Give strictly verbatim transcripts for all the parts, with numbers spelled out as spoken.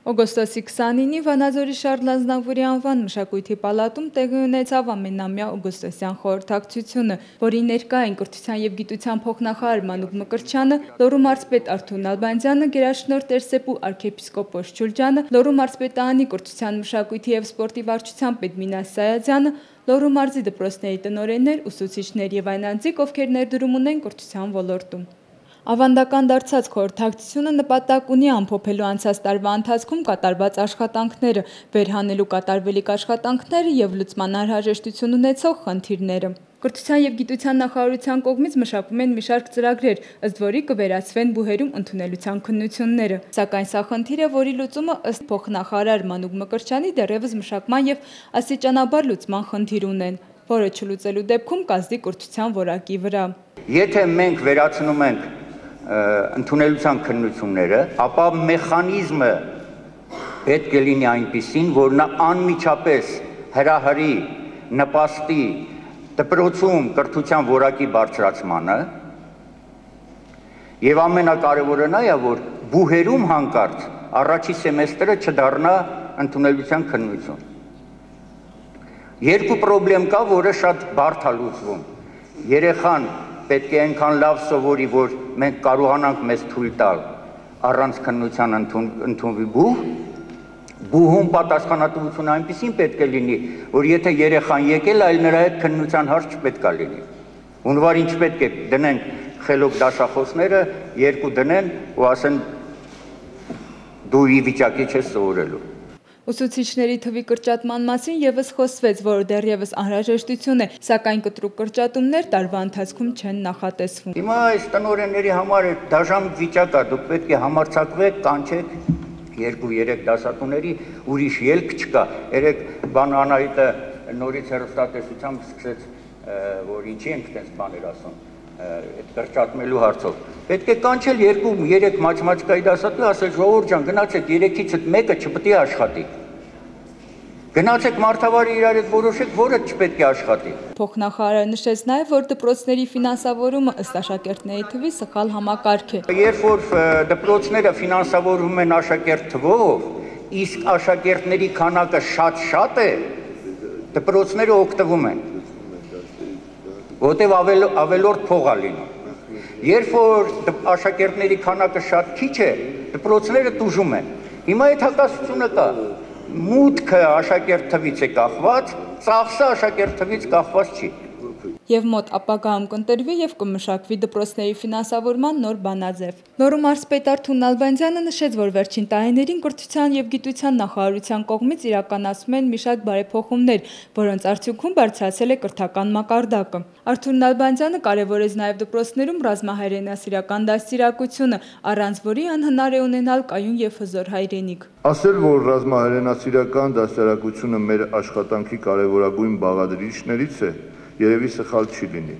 Օգոստոսի քսանինի Վանաձորի Շարլ Ազնավուրի անվան մշակույթի պալատում տեղի ունեցավ ամենամյա օգոստոսյան խորհրդակցությունը, որի ներկա էին կրթության և գիտության փոխնախարար Մանուկ Մկրտչյանը, Լոռու մարզպետ Արթուր Նալբանդյանը, գերաշնորհ Տեր-Սեփու arczepiskopos Ջուլջյանը, Լոռու մարզպետարանի կրթության, մշակույթի և սպորտի վարչության պետ Մինաս Սայաթյանը, Լոռու մարզի դպրոցների տնօրեններ, ուսուցիչներ և այն անձիկ, ովքեր ներդրում ունեն կրթության ոլորտում։ Ավանդական դարձած խորհրդակցությունը նպատակ ունի ամփոփելու անցած տարվա ընթացքում կատարված աշխատանքները, վերհանելու կատարվելիք աշխատանքները և լուծման անհրաժեշտություն ունեցող խնդիրները։ Կրթության և գիտության նախարարության կողմից մշակվում են մի շարք ծրագրեր, ըստ որի կվերացվեն բուհերում ընդունելության քննությունները։ Սակայն սա խնդիր է, որի լուծումը ըստ փոխնախարար Մանուկ Մկրտչյանի դեռևս մշակման և աստիճանաբար լուծման խնդիր ունեն, որը չլուծելու դեպքում կազդի կրթության որակի վրա։ Եթե մենք վերացնում ենք ընդունելության քննությունները, ապա մեխանիզմը պետք է լինի այնպիսին, որ նա անմիջապես հրահրի, նպաստի դպրոցում կրթության որակի բարձրացմանը, եւ ամենակարևորը նա է, որ բուհերում հանկարծ առաջի սեմեստրը չդառնա ընդունելության քննություն։ Երկու խնդրեմ կա, որը շատ բարդ է լուծվում։ Երեխան պետք է այնքան լավ սովորի, որ մենք կարողանանք մեզ թույլ տալ առանց քննության ընդունվի բուհ, բուհում պատասխանատվությունը այնպիսին պետք է լինի, որ եթե երեխան եկել, այլ նրա հետ քննության հարց չպետք է լինի։ Հունվար ինչ պետք է դնենք խելոք դասախոսները, երկու դնեն ու ասեն դու ի վիճակի չես սովորելու։ Ուսուցիչների թվի կրճատման մասին ևս խոսվեց, որը դեռևս անհրաժեշտություն է, սակայն կտրուկ կրճատումներ տարվա ընթացքում չեն նախատեսվում։ Հիմա այս տնօրենների համար դաժան վիճակ է, դուք պետք է համարձակվեք, կանչեք երկու-երեք դասատուների, ուրիշ ելք չկա։ Երեք բան Անահիտը նորից հեռուստատեսությամբ սկսեց, որ ինչի ենք տես բաներ ասում, այդ կրճատմելու հարցով։ Պետք է կանչել երկու-երեք մաթեմատիկայի դասատու, ասել ժողովուրդ ջան, գնացեք երեքից մեկը չպետք է աշխատի։ Գնացեք մարդավարի իրար հետ որոշեք, որը չպետք է աշխատի։ Փոխնախարարը նշեց նաև, որ դպրոցների ֆինանսավորումը ըստ աշակերտների թվի սխալ համակարգ է։ Երբ որ դպրոցները ֆինանսավորվում են աշակերտ թվով, իսկ աշակերտների քանակը շատ-շատ է, դպրոցները օգտվում են, որտեղ ավելորդ փող է լինում։ Երբ որ աշակերտների քանակը շատ քիչ է, դպրոցները տուժում են։ Հիմա այդ հակասությունը կա։ Մուտքը աշակերտ թվից է կախված, ծախսը աշակերտ թվից կախված չի։ Եվ մոտ ապագայում կընտրվի և կմշակվի դպրոցների ֆինանսավորման նոր բանաձև։ Լոռու մարզպետ Արթուր Նալբանդյանը նշեց, որ վերջին տարիներին կրթության և գիտության նախարարության կողմից իրականացվում են մի շարք բարեփոխումներ, որոնց արդյունքում բարձրացել է կրթական մակարդակը։ Արթուր Նալբանդյանը կարևորեց նաև դպրոցներում ռազմահայրենասիրական դաստիարակությունը, առանց որի անհնար է ունենալ կայուն և հզոր հայրենիք։ Ասել, որ ռազմահայրենասիրական դաստիարակությունը մեր աշխատանքի կարևորագույն բաղադրիչներից է, երևի սխալ չի լինի։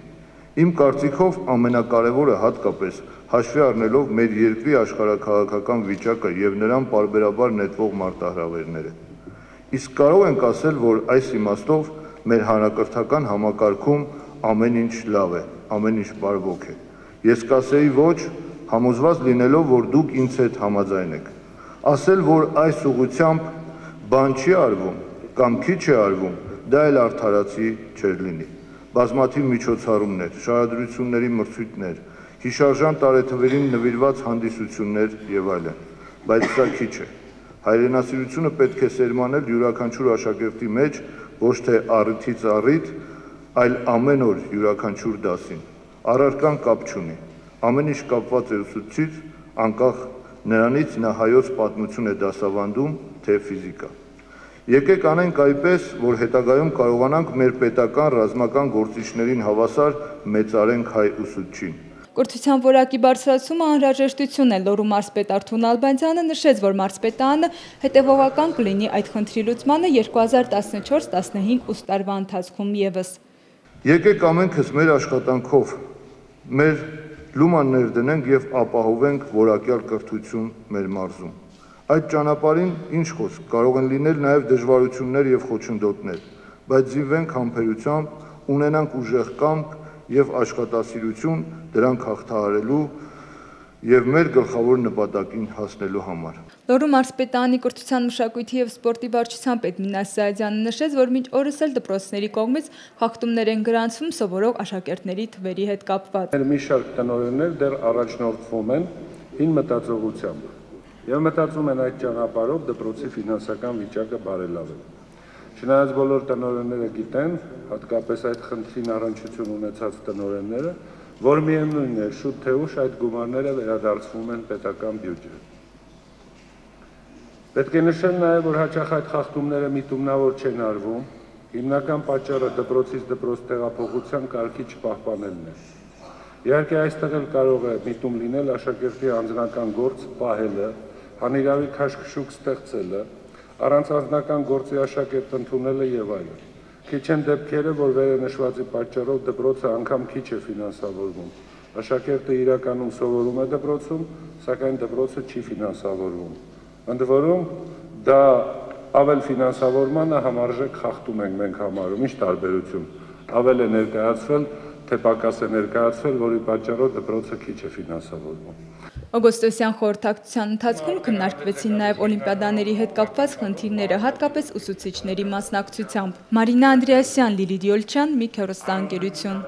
Իմ կարծիքով ամենակարևորը հատկապես հաշվի առնելով մեր երկրի աշխարհաքաղաքական վիճակը եւ նրան պարբերաբար նետվող մարտահրավերները։ Իսկ կարող ենք ասել, որ այս իմաստով մեր հանրակրթական համակարգում ամեն ինչ լավ է, ամեն ինչ բարվոք է։ Ես կասեի ոչ, համոզված լինելով, որ դուք ինձ հետ համաձայն եք։ Ասել, որ այս ուղղությամբ բան չի արվում կամ քիչ է արվում, դա էլ արդարացի չէր լինի։ Բազմաթիվ միջոցառումներ, շարադրությունների մրցույթներ, հիշարժան տարեթվերին նվիրված հանդիսություններ եւ այլն, բայց սա քիչ է։ Հայրենասիրությունը պետք է սերմանել յուրաքանչյուր աշակերտի մեջ ոչ թե առիթից առիթ, այլ ամեն օր յուրաքանչյուր դասին։ Առարկան կապ չունի։ Ամեն ինչ կապված է ուսուցիչից, անկախ նրանից նա հայոց պատմություն է դասավանդում, թե ֆիզիկա։ Եկեք անենք այնպես, որ հետագայում կարողանանք մեր պետական ռազմական գործիչներին հավասար մեծարենք հայ ուսուցչին։ Կրթության որակի բարձրացումը անհրաժեշտություն է։ Լոռու մարզպետ Արթուր Նալբանդյանը նշեց, որ մարզպետարանը հետևողական կլինի այդ խնդրի լուծմանը երկու հազար տասնչորս տասնհինգ ուսուցիչ տարվա ընթացքում ևս։ Եկեք ամենքս մեր աշխատանքով մեր լուման ներդնենք եւ ապահովենք որակյալ կրթություն մեր մարզում։ Այդ ճանապարհին ինչ խոսք, կարող են լինել նաև դժվարություններ եւ խոչընդոտներ, բայց զինվենք համբերությամբ, ունենանք ուժեղ կամք եւ աշխատասիրություն դրանք հաղթահարելու եւ մեր գլխավոր նպատակին հասնելու համար։ Լոռու մարզպետարանի կրթության, մշակույթի և սպորտի վարչության պետ Մինաս Սայադյանը նշեց, որ մինչ օրս էլ դպրոցների կողմից խախտումներ են գրանցվում սովորող աշակերտների թվերի հետ կապված։ Մի շարք տնօրեններ դեռ առաջնորդվում են հին մտածողությամբ եւ մտածում են այդ ճանապարհով դպրոցի ֆինանսական վիճակը բարելավել։ Չնայած բոլոր տնօրենները գիտեն, հատկապես այդ խնդրին առնչություն ունեցած տնօրենները, որ միևնույն է շուտ թե ուշ այդ գումարները վերադարձվում են պետական բյուջե։ Պետք է նշել նաև, որ հաճախ այդ խախտումները միտումնավոր չեն արվում, հիմնական պատճառը դպրոցից դպրոց տեղափոխության կարգի չպահպանելն է։ Իհարկե այստեղ էլ կարող է միտում լինել աշակերտի անձնական գործ պահելը, հանիրավի քաշքշուկ ստեղծելը, առանց անձնական գործի աշակերտ ընդունելը եւ այլն։ Քիչ են դեպքերը, որ վերնշվածի պատճառով դպրոցը անգամ քիչ է ֆինանսավորվում։ Աշակերտը իրականում սովորում է դպրոցում, սակայն դպրոցը չի ֆինանսավորվում։ Ընդ որում դա ավել ֆինանսավորմանը համարժեք խախտում ենք մենք համարում, ինչ տարբերություն, ավել է ներկայացվել, թե պակաս է ներկայացվել, որի պատճառով դպրոցը քիչ է ֆինանսավորվում։ Օգոստոսյան խորհրդակցության ընթացքում քննարկվեցին նաև օլիմպիադաների հետ կապված խնդիրները, հատկապես ուսուցիչների մասնակցությամբ։ Մարինա Անդրեասյան, Լիլիթ Յոլչյան, Միք հեռուստաընկերություն։